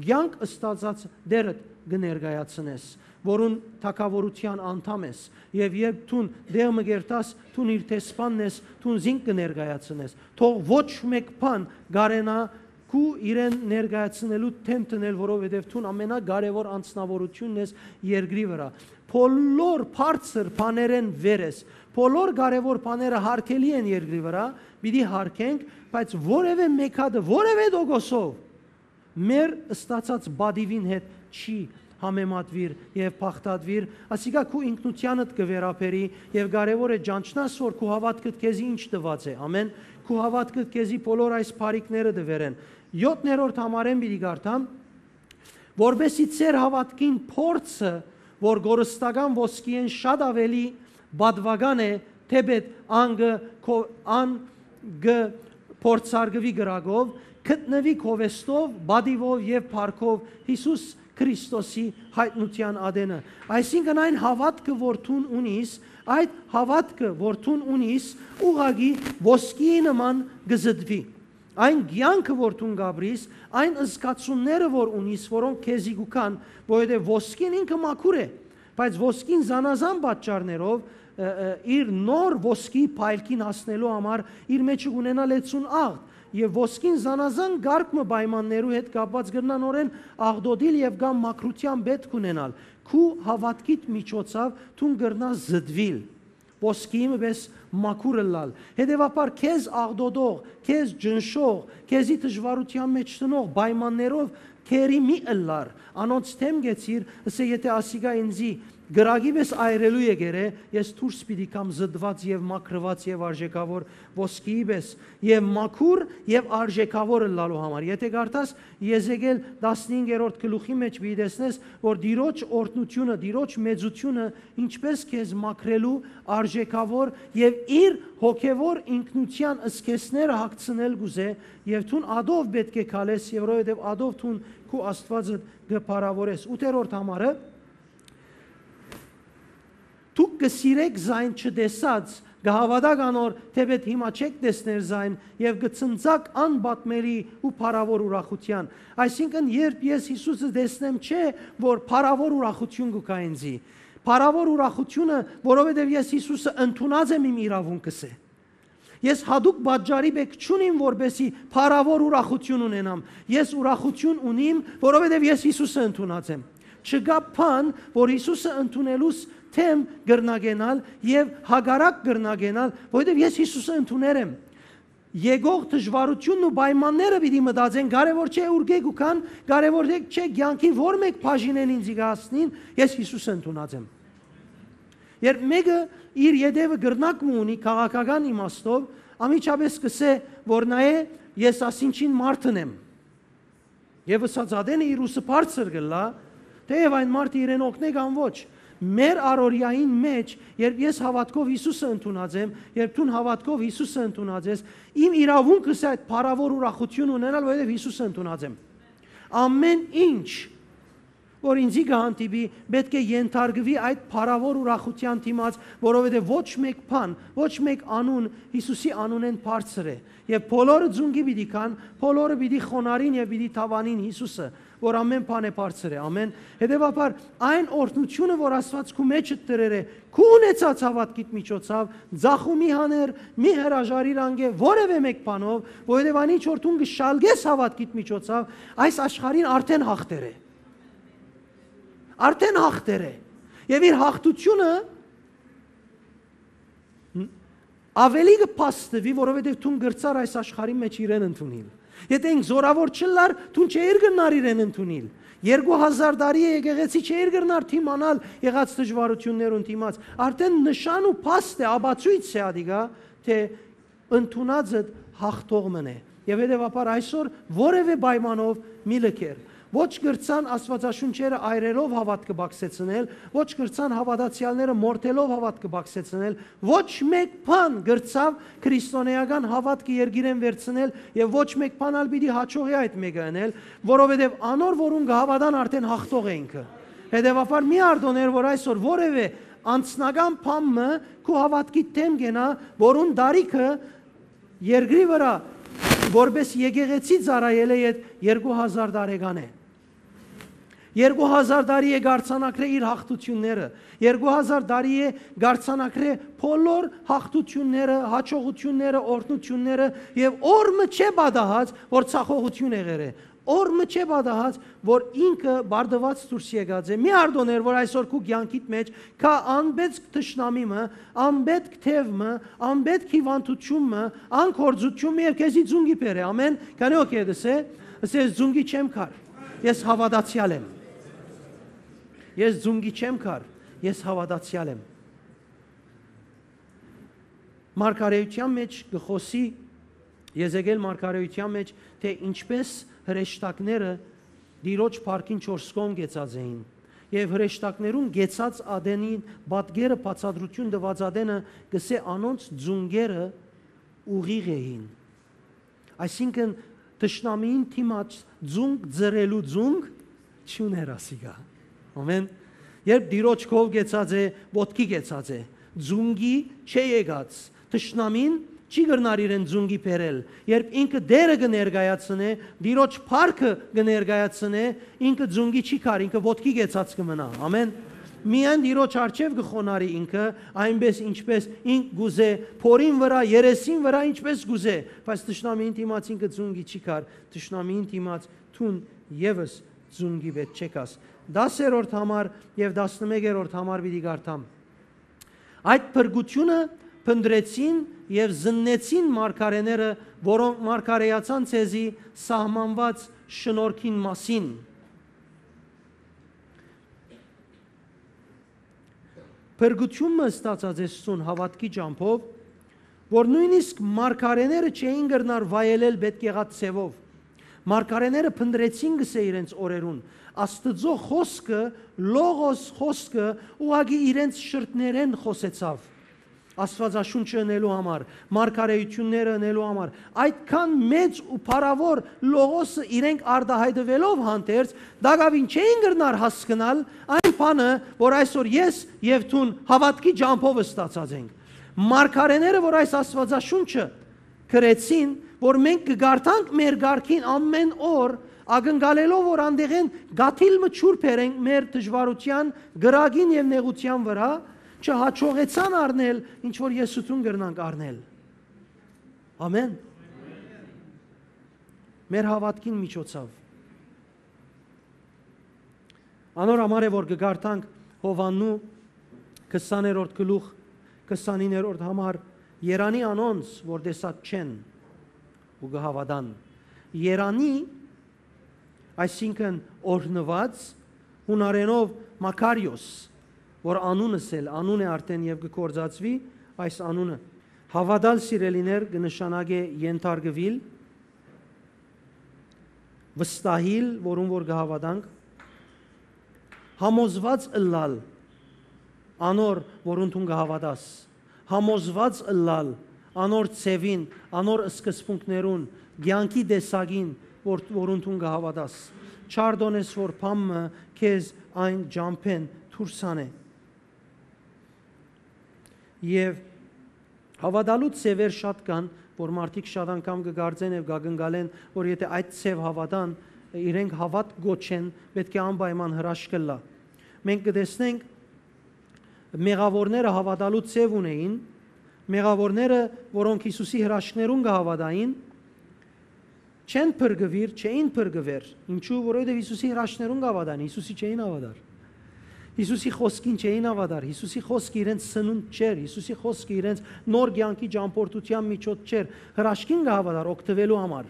կեանք ստացած դերդ կը ներկայացնես, որուն թագաւորութեան անդամ ես, եւ երբ դուն դեղ մը կերտաս, դուն իր դեսպանն ես, դուն զինք կը ներկայացնես։ Թող ոչ մէկ բան կարենայ քու իրեն ներկայացնելու դէմ դնել, որովհետեւ դուն ամենակարեւոր անձնաւորութիւնն ես երկրի վրայ։ Բոլոր բարձր բաներէն վեր ես, բոլոր կարեւոր բաները հարգելի են երկրի վրայ, պիտի հարգենք, բայց որեւէ մէկ հատը, որեւէ տոկոսով մեր ստացած պատիւին հետ չի համեմատուիր եւ բաղդատուիր, ասիկա քու ինքնութեանդ կը վերաբերի եւ կարեւոր է ճանչնաս, որ քու հաւատքդ քեզի ինչ տուած է, ամէն, քու հաւատքդ քեզի բոլոր այս բարիքները տուեր են։ Յոթներորդ համարէն պիտի կարդամ, որպեսզի ձեր հաւատքին փորձը, որ կորստական ոսկիէն շատ աւելի պատուական է, թէպէտ ան կը քո-, ան կը փորձարկուի կրակով, գտնուի քովեստով, պատիւով եւ փառքով Յիսուս Քրիստոսի յայտնութեան ատենը։ Այսինքն այն հաւատքը, որ դուն ունիս, այդ հաւատքը, որ դուն ունիս, ուղղակի ոսկիի նման կը զտուի։ Այն կեանքը, որ դուն կ'ապրիս, այն զգացումները, որ ունիս, որոնք քեզի կու գան, որովհետեւ ոսկին ինքը մաքուր է, բայց ոսկին զանազան պատճառներով, ը, ը, իր նոր ոսկի փայլքին հասնելու համար իր մէջը կ'ունենայ լեցուն աղդ, եւ ոսկին զանազան կարգ մը պայմաններու հետ կապուած կրնայ նորէն աղդոտիլ եւ կամ մաքրութեան պէտք ունենալ։ Քու հաւատքիդ միջոցաւ դուն կրնաս զտուիլ, ոսկիի մը պէս մաքուր ըլլալ։ Հետեւաբար քեզ աղդոտող, քեզ ճնշող, քեզի դժուարութեան մէջ դնող պայմաններով քերի մի ըլլար, անոնց դէմ կեցիր, ըսէ, եթէ ասիկա ինծի կրակի պէս այրելու եկեր է, ես դուրս պիտի գամ զտուած եւ մաքրուած եւ արժեքաւոր ոսկիի պէս, եւ մաքուր եւ արժեքաւոր ըլլալու համար։ Եթէ կարդաս Եզեկիել տասնհինգերորդ գլուխի մէջ, պիտի տեսնես, որ Տիրոջ օրհնութիւնը, Տիրոջ մեծութիւնը ինչպէս քեզ մաքրելու արժեքաւոր եւ իր հոգեւոր ինքնութեան զգեստները հագցնել կ'ուզէ, եւ դուն ատով պէտք է քալես, եւ որովհետեւ ատով դուն քու Աստուածը կը փառաւորես։ Ութերորդ համարը, դուք կը սիրէք զայն չտեսած, կը հաւատաք անոր, թէպէտ հիմա չէք տեսներ զայն, եւ կը ցնծաք անպատմելի ու փառաւոր ուրախութեան։ Այսինքն, երբ ես Յիսուսը տեսնեմ, չէ, որ փառաւոր ուրախութիւն կու գայ ինծի։ Փառաւոր ուրախութիւնը, որովհետեւ ես Յիսուսը ընդունած եմ իմ իրաւունքս է։ Ես յատուկ պատճառի պէտք չունիմ, որպեսզի փառաւոր ուրախութիւն ունենամ։ Ես ուրախութիւն ունիմ, որովհետեւ ես Յիսուսը ընդունած եմ։ Չկայ բան, որ Յիսուսը ընդունելուս դէմ կրնայ կենալ եւ հակառակ կրնայ կենալ, որովհետեւ ես Յիսուսը ընդուներ եմ։ Եկող դժուարութիւնն ու պայմանները պիտի մտածեն, կարեւոր չէ ուրկէ կու գան, կարեւոր չէ կեանքի որ մէկ բաժինէն ինծի կը հասնին, ես Յիսուսը ընդունած եմ։ Երբ մէկը իր ետեւը կրնակ մը ունի քաղաքական իմաստով, անմիջապէս կ'ըսէ, որ նայէ, ես ասինչին մարդն եմ։ Եւ ըսած ատենը իր ուսը բարձր կ'ըլլայ, թէեւ այն մարդը իրեն օգնէ կամ ոչ։ Մեր առօրեային մէջ, երբ ես հաւատքով Յիսուսը ընդունած եմ, երբ դուն հաւատքով Յիսուսը ընդունած ես, իմ իրաւունքս է այդ փառաւոր ուրախութիւն ունենալ, որովհետեւ Յիսուսը ընդունած եմ։ Ամէն ինչ, որ ինծի կը հանդիպի, պէտք է ենթարկուի այդ փառաւոր ուրախութեան դիմաց, որովհետեւ ոչ մէկ բան, ոչ մէկ անուն Յիսուսի անունէն բարձր է։ Եւ բոլորը ձունկի պիտի գան, բոլորը պիտի խոնարհին եւ պիտի դաւանին Յիսուսը, որ ամէն բան է բարձր է, ամէն։ Հետեւաբար, այն օրհնութիւնը, որ Աստուած քու մէջդ դրեր է, քու ունեցած հաւատքիդ միջոցաւ, ձախու մի հաներ, մի հրաժարիր անկէ որեւէ մէկ բանով, որովհետեւ այն ինչ որ դուն կը շալկես հաւատքիդ միջոցաւ, այս աշխարհին արդէն հաղթեր է։ Արդէն հաղթեր է։ Եւ իր հաղթութիւնը աւելի կը փաստուի, որովհետեւ դուն կրցար այս աշխարհի մէջ իրեն ընդունիլ։ Եթէ ինք զորաւոր չըլլար, դուն չէիր կրնար իրեն ընդունիլ։ Երկու հազար տարի է եկեղեցի չէիր կրնար դիմանալ եղած դժուարութիւններուն դիմաց։ Արդէն նշան ու փաստ է, ապացոյց է ադիկա, թէ ընդունածդ հաղթող մըն է։ Եւ հետեւաբար այսօր որեւէ պայմանով մի լքեր։ Ոչ կրցան Աստուածաշունչերը այրելով հաւատքը բացեցնել, ոչ կրցան հաւատացեալները մորթելով հաւատքը բացեցնել, ոչ մէկ բան կրցաւ քրիստոնեական հաւատքը երկիրէն վերցնել եւ ոչ մէկ բան ալ պիտի հաջողի այդ մէկը ընել, որովհետեւ անոր, որուն կը հաւատան, արդէն հաղթող է ինքը։ Հետեւաբար մի արտօներ, որ այսօր որեւէ անձնական բան մը քու հաւատքիդ դէմ կենայ, որուն տարիքը երկրի վրայ որպէս եկեղեցի ծառայելէ յետ երկու հազար տարեկան է։ Երկու հազար տարի է կարձանագրէ իր հաղթութիւնները, երկու հազար տարի է կարձանագրէ բոլոր հաղթութիւնները, հաջողութիւնները, օրհնութիւնները, եւ օր մը չէ պատահած, որ ցախողութիւն եղեր է, օր մը չէ պատահած, որ ինքը բարդուած դուրս եկած է։ Մի արտօներ, որ այսօր քու կեանքիդ մէջ կայ անպետք թշնամի մը, անպետք թեւ մը, անպետք հիւանդութիւն մը, անկործութիւն մը եւ քեզի ձունկի բերէ։ Ամէն։ Քանի օքեյ դսե, ըսես, ձունկի չեմ կար, ես հաւատացեալ եմ։ Ես ձունկի չեմ կար, ես հաւատացեալ եմ։ Մարգարեութեան մէջ կը խօսի, Եզեկիել մարգարեութեան մէջ, թէ ինչպէս հրեշտակները Տիրոջ փառքին չորս կողմ կեցած էին, Եւ հրեշտակներուն կեցած ատենին պատկերը բացատրութիւն տուած ատենը կ'ըսէ անոնց ծունկերը ուղիղ էին։ Այսինքն, թշնամիին դիմաց ծունկ ծռելու ծունկ չունէր ասիկա։ Ամեն։ Երբ Տիրոջ քով կեցած է, ոտքի կեցած է, ծունկի չէ եկած, թշնամին չի կրնար իրեն ծունկի բերել։ Երբ ինքը Տերը կը ներկայացնէ, Տիրոջ փառքը կը ներկայացնէ, ինքը ծունկի չի կար, ինքը ոտքի կեցած կը մնայ։ Ամեն։ Միայն Տիրոջ առջեւ կը խոնարհի ինքը, այնպէս ինչպէս ինք կ'ուզէ, փորին վրայ, երեսին վրայ, ինչպէս կ'ուզէ, բայց թշնամիին դիմաց ինքը ծունկի չի կար, թշնամիին դիմաց դուն եւս ծունկի պէտք չեկաս։ Տասերորդ համար եւ տասնմեկերորդ համար պիտի կարդամ։ Այդ փրկութիւնը փնտռեցին եւ զննեցին մարգարէները, որոնք մարգարէացան ձեզի սահմանուած շնորհքին մասին։ Փրկութիւնը ստացած ես սուն հաւատքի ճամբով, որ նոյնիսկ մարգարէները չէին կրնար վայելել պէտք եղած ձեւով։ Մարգարէները փնտռեցին, կ'ըսէ, իրենց օրերուն։ Աստուծոյ խօսքը, լողոս խօսքը, ուղղակի իրենց շրթներէն խօսեցաւ, Աստուածաշունչը ընելու համար, մարգարէութիւնները ընելու համար։ Այդքան մեծ ու փառաւոր լողոսը իրենք արտայայտուելով հանդերձ, տակաւին չէին կրնար հասկնալ այն բանը, որ այսօր ես եւ դուն հաւատքի ճամբով ստացած ենք։ Մարգարէները, որ այս Աստուածաշունչը գրեցին, որ մենք կը կարդանք մեր կարգին ամեն օր, ակնկալելով, որ անդեղէն կաթիլ մը ջուր բերենք մեր դժուարութեան, կրակին եւ նեղութեան վրայ, չհաջողեցան առնել, ինչ որ ես ու դուն կրնանք առնել։ Ամեն։ Մեր հաւատքին միջոցով։ Անոր համար է, որ կը կարդանք Յովհաննու քսաներորդ գլուխ, քսանիններորդ համար. «Երանի անոնց, որ տեսած չեն ու կը հաւատան»։ Երանի, այսինքն՝ օրհնուած, յունարէնով Մաքարիոս, որ անունս էլ անուն է արդեն եւ կը գործածուի այս անունը։ Հաւատալ, սիրելիներ, կը նշանակէ ենթարկուիլ, վստահիլ, որուն որ կը հաւատանք, համոզուած ըլլալ անոր, որուն դուն կը հաւատաս, համոզուած ըլլալ անոր ձեւին, անոր սկզբունքներուն, կեանքի տեսակին, որ, որուն դուն կը հաւատաս։ Չարդոնես, որ բան մը քեզ այն ճամբէն դուրս անէ։ Եւ հաւատալու ձեւեր շատ կան, որ մարդիկ շատ անգամ կը կարծեն եւ կակնկալեն, որ եթե այդ ձեւ հաւատան, իրենք հաւատք կոչեն, պէտք է անպայման հրաշք ըլլայ։ Մենք կը տեսնենք, մեղաւորները հաւատալու ձեւ ունէին, մեղաւորները, որոնք Յիսուսի հրաշքներուն կը հաւատային, չեն փրկուիր, չէին փրկուեր։ Ինչու՞, որովհետեւ Յիսուսի հրաշքներուն կը հաւատային, Յիսուսի չէին հաւատար։ Յիսուսի խօսքին չէին հաւատար, Յիսուսի խօսքը իրենց սնունդ չէր, Յիսուսի խօսքը իրենց նոր կեանքի ճամբորդութեան միջոց չէր, հրաշքին կը հաւատար օգտուելու համար։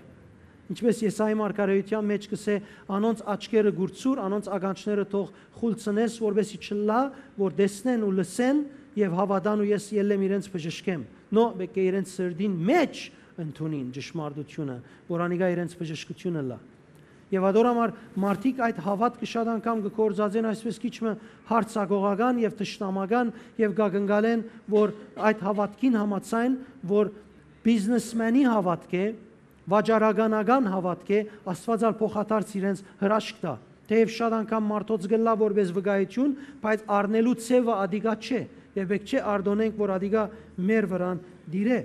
Ինչպէս Եսայի մարգարէութեան մէջ կ'ըսէ. «Անոնց աչքերը կուրցուր, անոնց ականջները թող խուլցնես, որպէսզի չըլլայ, որ տեսնեն ու լսեն եւ հաւատան ու ես ելլեմ իրենց բժշկեմ»։ Նո, պէտք է իրենց սրտին մէջ ընդունին ճշմարտութիւնը, որ անիկա իրենց բժշկութիւնը ըլլայ։ Եւ ատոր համար մարդիկ այդ հաւատքը շատ անգամ կը գործածեն այսպես քիչ մը յարձակողական եւ թշնամական եւ կակնկալեն, որ այդ հաւատքին համաձայն, որ բիզնեսմենի հաւատք է, վաճառականական հաւատք է, Աստուած ալ փոխադարձ իրենց հրաշք տայ։ Թէեւ շատ անգամ մարդոց կ'ըլլայ որպէս վկայութիւն, բայց առնելու ձեւը ատիկա չէ, եւ պէտք չէ արտօնենք, որ ատիկա մեր վրան տիրէ։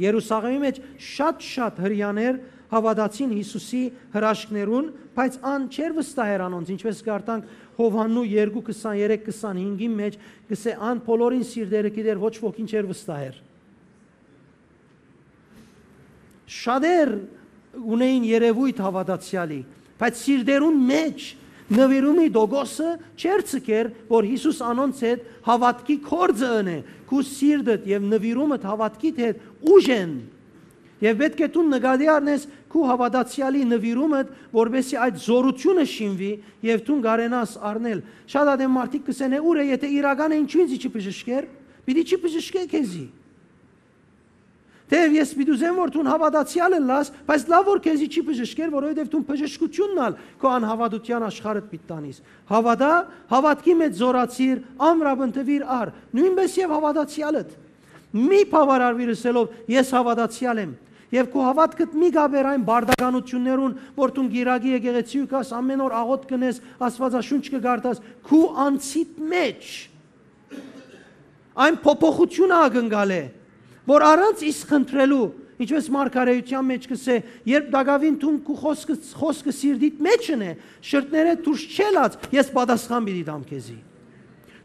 Երուսաղէմի մէջ շատ-շատ հրեաներ հաւատացին Յիսուսի հրաշքներուն, բայց ան չէր վստահեր անոնց, ինչպէս կարդանք Յովհաննու երկու քսաներեք քսանհինգին մէջ, կ'ըսէ. «Ան բոլորին սիրտերը գիտեր, ոչ ոքին չէր վստահեր»։ Շատեր ունէին երեւոյթ հաւատացեալի, բայց սիրտերուն մէջ նուիրումի տոկոսը չէր ձգեր, որ Յիսուս անոնց հետ հաւատքի գործը ընէ, քու սիրտդ եւ նուիրումդ հաւատքիդ հետ ուժ են։ Եւ պէտք է դուն նկատի առնես քու հաւատացեալի նուիրումդ, որպէսզի այդ զօրութիւնը շինուի եւ դուն կարենաս առնել։ Շատ ատեն մարդիկ կ'ըսեն. «Է, ո՞ւր է, եթե իրական է, ինչո՞ւ ինձի չի բժշկեր»։ Պիտի չի բժշկէ քեզի։ Թէեւ ես պիտի ուզեմ որ դուն հաւատացեալ ըլլաս, բայց լաւ որ քեզի չի բժշկեր, որովհետեւ դուն բժշկութիւնն ալ քո անհաւատութեան աշխարհդ պիտի տանիս։ Հաւատա, հաւատքի մէջ զօրացիր, ամրապնդուիր առ, նոյնպէս եւ հաւատացեալդ։ Մի բաւարարուիր ըսելով. «Ես հաւատացեալ եմ»։ Եւ քու հաւատքդ մի կապեր այն բարդականութիւններուն, որ դուն կիրակի եկեղեցի կաս, ամէն օր աղօթք կ'ընես, Աստուածաշունչ կը կարդաս, քու անձիդ մէջ այն փոփոխութիւնը ակնկալէ, որ առանց իսկ խնդրելու, ինչպես մարգարէութեան մէջ կ'ըսէ, երբ տակաւին դուն քու խօսքը, խօսքը սիրտիդ մէջ ընէ, շրթներէ դուրս չելած, ես պատասխան պիտի տամ քեզի։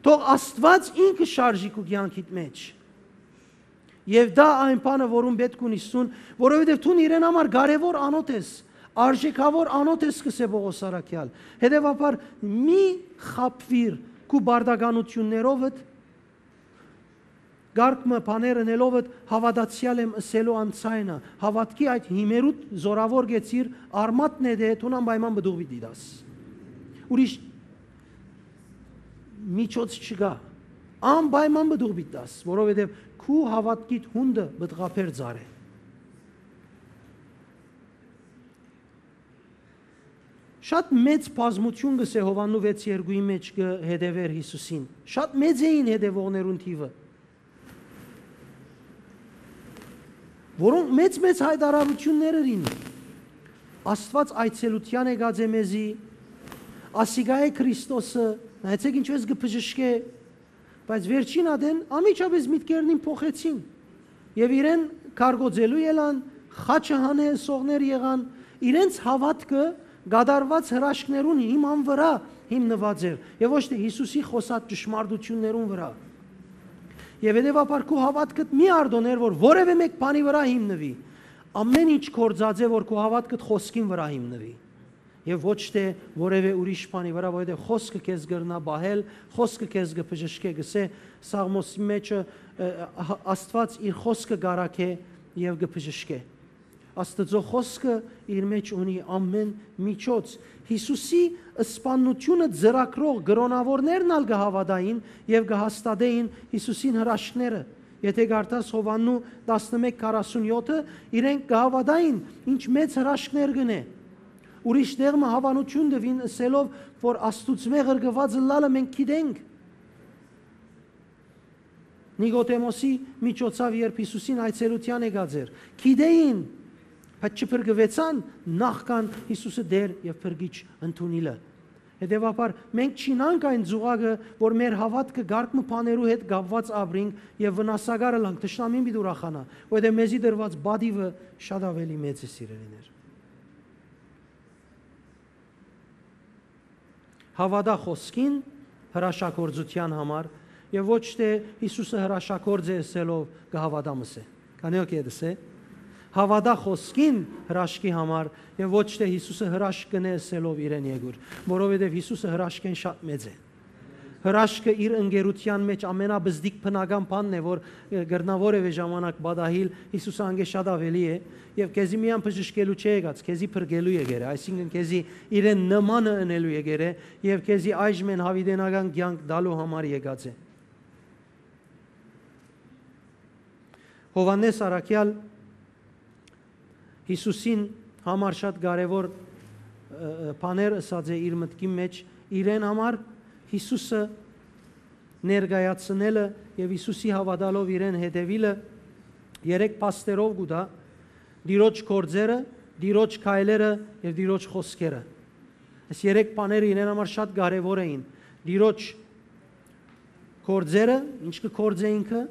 Թող Աստուած ինքը շարժի քու կեանքիդ մէջ։ Եւ դա այն բանը, որուն պէտք ունիս դուն, որովհետեւ դուն իրեն համար կարեւոր անոթ ես, արժեքաւոր անոթ ես, կ'ըսէ Պողոս առաքեալ։ Հետեւաբար, մի խաբուիր քու բարդականութիւններովդ, կարգ մը բաներ ընելովդ, հաւատացեալ եմ ըսելու անցայնը, հաւատքի այդ հիմերուդ զօրաւոր գեցիր, արմատն է դե, դուն անպայման պտուղ պիտի տաս։ Ուրիշ միջոց չկայ, անպայման պտուղ պիտի տաս, որովհետեւ քու հաւատքիդ յունտը պտղաբեր ծառ է։ Շատ մեծ բազմութիւն, կ'ըսէ Յովհաննու վեց երկուի մէջ, կը հետեւէր Յիսուսին։ Շատ մեծ էին հետեւողներուն թիւը, որոնք մեծ-մեծ յայտարարութիւններ ըրին։ «Աստուած այցելութեան եկած է մեզի, ասիկա է Քրիստոսը, նայեցէք ինչպէս կը բժշկէ»։ Բայց վերջին ատեն անմիջապէս միտքերնին փոխեցին եւ իրեն կարգոծելու ելան, խաչը հանե ըսողներ եղան, իրենց հաւատքը կատարուած հրաշքներուն հիման վրայ հիմնուած էր եւ ոչ թէ Յիսուսի խօսած ճշմարտութիւններուն վրայ։ Եւ հետեւաբար քու հաւատքդ մի արտոնէր, որ որեւէ մէկ բանի վրայ հիմնուի։ Ամէն ինչ գործած է, որ քու հաւատքդ խօսքին վրայ հիմնուի եւ ոչ թէ որեւէ ուրիշ բանի վրայ, որովհետեւ խօսքը քեզ կրնայ պահել, խօսքը քեզ կը բժշկէ, կ'ըսէ Սաղմոսի մէջը, ը, ը, Աստուած իր խօսքը կ'արագէ եւ կը բժշկէ։ Աստուծոյ խօսքը իր մէջ ունի ամէն միջոց։ Յիսուսի սպաննութիւնը ծրագրող կրօնաւորներն ալ կը հաւատային եւ կը հաստատէին Յիսուսին հրաշքները։ Եթէ կարդաս Յովհաննու տասնմէկ քառասունեօթը, իրենք կը հաւատային ինչ մեծ հրաշքներ կ'ընէ։ Ուրիշ տեղ մը հաւանութիւն տուին ըսելով, որ Աստուծմէ ղրկուած ըլլալը մենք գիտենք։ Նիկոդեմոսի միջոցաւ, երբ Յիսուսին այցելութեան եկած էր, գիտէին, բայց չփրկուեցան նախքան Յիսուսը Տէր եւ Փրկիչ ընդունիլը։ Հետեւաբար, մենք չինանք այն ծուղակը, որ մեր հաւատքը կարգ մը բաներու հետ կապուած ապրինք եւ վնասակար ըլանք, թշնամին պիտի ուրախանայ, որովհետեւ մեզի տրուած պատիւը շատ աւելի մեծ է, սիրելիներ։ Հաւատա խօսքին հրաշագործութեան համար եւ ոչ թէ Յիսուսը հրաշագործ է ըսելով կը հաւատամ ըսէ։ Քանի ո՞ք է դսե։ Հաւատա խօսքին հրաշքի համար եւ ոչ թէ Յիսուսը հրաշք կ'ընէ ըսելով իրեն եկուր, որովհետեւ Յիսուսը հրաշքէն շատ մեծ է։ Հրաշքը իր ընկերութեան մէջ ամենաբզդիկ բնական բանն է, որ, ը, կրնայ որեւէ ժամանակ պատահիլ, Յիսուսը անկէ շատ աւելի է, եւ քեզի միայն բժշկելու չէ եկած, քեզի փրկելու եկեր է, այսինքն քեզի իրեն նմանը ընելու եկեր է, եւ քեզի այժմէն յաւիտենական կեանք տալու համար եկած է։ Յովհաննէս առաքեալ Յիսուսին համար շատ կարեւոր, ը, ը, բաներ ըսած է իր մտքին մէջ, իրեն համար Յիսուսը ներկայացնելը եւ Յիսուսի հաւատալով իրեն հետեւիլը երեք փաստերով կու տայ. Տիրոջ գործերը, Տիրոջ քայլերը եւ Տիրոջ խօսքերը։ Այս երեք բաները իրեն համար շատ կարեւոր էին։ Տիրոջ գործերը, ինչ կը գործէ ինքը,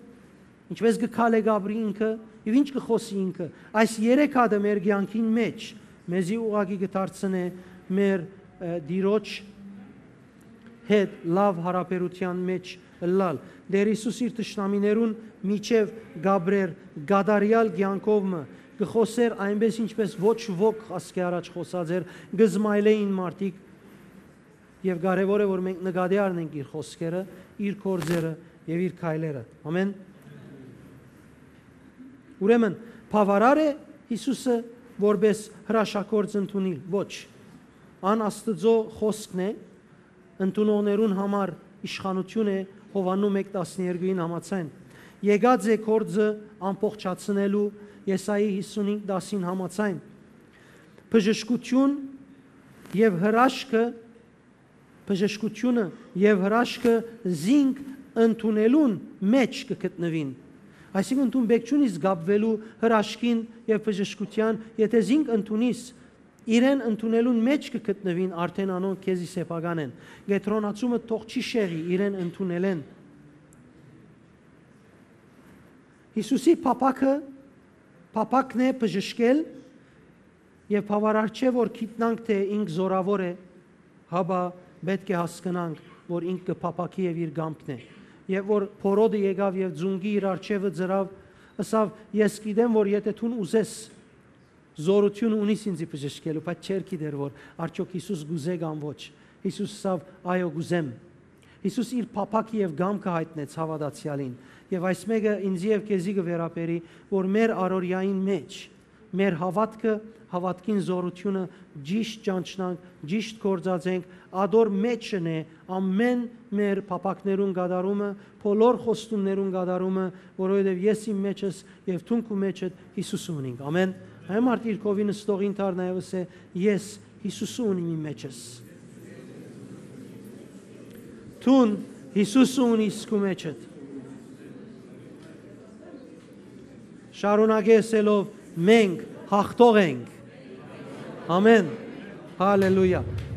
ինչպես կը քալեկապրի ինքը եւ ինչ կը խօսի ինքը։ Այս երեք հատը մեր կեանքին մէջ մեզի ուղղակի կը դարձնէ մեր, ը, Տիրոջ հետ լաւ յարաբերութեան մէջ ըլլալ։ Տէր Յիսուս իր թշնամիներուն միջեւ կ'ապրէր կատարեալ կեանքով մը, կը խօսէր այնպէս, ինչպէս ոչ ոք ասկէ առաջ խօսած էր, կը զմայլէին մարդիկ, եւ կարեւոր է, որ մենք նկատի առնենք իր խօսքերը, իր գործերը եւ իր քայլերը։ Ամեն։ Ուրեմն, բաւարար է Յիսուսը որպէս հրաշագործ ընդունիլ։ Ոչ։ Ան Աստուծոյ խօսքն է, ընդունողներուն համար իշխանութիւն է, Յովհաննու մէկ տասներկուին համաձայն։ Եկած է գործը ամբողջացնելու Եսայի հիսունհինգ տասին համաձայն, բժշկություն եւ հրաշքը, բժշկությունը եւ հրաշքը զինք ընդունելուն մէջ կը գտնուին։ Այսինքն, դուն պէտք չունիս կապուելու հրաշքին եւ բժշկութեան, եթէ զինք ընդունիս, իրեն ընդունելուն մէջ կը գտնուին արդէն անոնք քեզի սեփական են։ Կեդրոնացումը թող չի շեղի իրեն ընդունելէն։ Հիսուսի փափաքը, փափակն է բժշկել եւ բաւարար չէ, որ գիտնանք, թէ ինք զօրաւոր է, հապա պէտք է հասկնանք, որ ինք կը փափաքի եւ իր կամքն է։ Եւ որ փորոտը եկաւ եւ ծունկի իր առջեւը ծրաւ, ըսաւ. «Ես գիտեմ, որ եթէ դուն ուզես, զօրութիւնը ունիս ինծի բժշկելու», բայց չէր գիտեր, որ արդեօք Հիսուս կ'ուզէ կամ ոչ։ Հիսուս ըսաւ. «Այո, կ'ուզեմ»։ Հիսուս իր փափաքը եւ կամքը յայտնեց հաւատացեալին։ Եւ այս մէկը ինծի եւ քեզի կը վերաբերի, որ մեր առօրեային մէջ, մեր հաւատքը, հաւատքին զօրութիւնը ճիշտ ճանչնանք, ճիշտ գործածենք, ատոր մէջն է ամէն մեր փափակներուն կատարումը, բոլոր խոստումներուն կատարումը, որովհետեւ ես իմ մեջս եւ դուն քու մեջդ Հիսուսը ունինք։ Ամէն։ Այն մարդ իր քովի նստողին դառնայ եւ ըսէ. «Ես Հիսուսը ունիմ իմ մեջս»։ Դուն Հիսուսը ունիս քու մեջդ։ Շարունակե ըսելով. «Մենք հաղթող ենք»։ Ամէն։ Հալելույա։